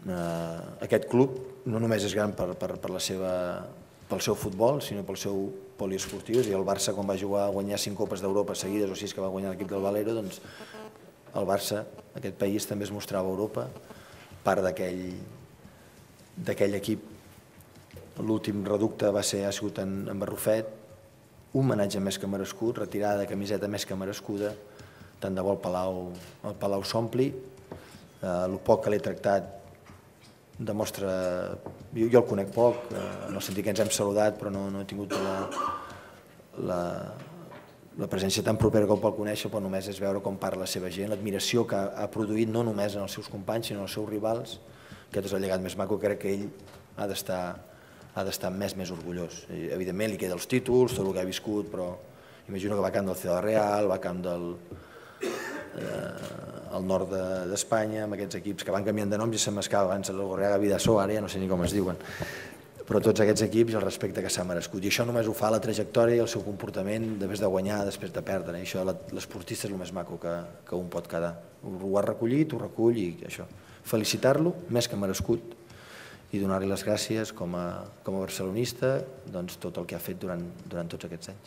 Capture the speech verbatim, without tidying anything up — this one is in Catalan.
Aquest club no només és gran per la seva pel seu futbol, sinó pel seu poliesportiu. I el Barça, quan va jugar a guanyar cinc copes d'Europa seguides, o sis que va guanyar l'equip del Valero, doncs el Barça, aquest país, també es mostrava a Europa, part d'aquell equip. L'últim reducte va ser, ha sigut en Barrufet, un homenatge més que merescut, retirada de camiseta més que merescuda, tant de bo el Palau s'ompli. El poc que l'he tractat demostra... Jo el conec poc, en el sentit que ens hem saludat, però no he tingut la presència tan propera com pel conèixer, però només és veure com parla la seva gent, l'admiració que ha produït no només en els seus companys, sinó en els seus rivals. Aquest és el llegat més maco, crec que ell ha d'estar més més orgullós. Evidentment li queda els títols, tot el que ha viscut, però imagino que va a camp del Ciudad Real, va a camp del al nord d'Espanya, amb aquests equips que van canviant de noms i se m'escava abans el Gorriaga Vidasoa, ara ja no sé ni com es diuen, però tots aquests equips i el respecte que s'ha merescut. I això només ho fa la trajectòria i el seu comportament després de guanyar, després de perdre. I això l'esportista és el més maco que un pot quedar. Ho ha recollit, ho recull i això. Felicitar-lo, més que merescut, i donar-li les gràcies com a barcelonista tot el que ha fet durant tots aquests anys.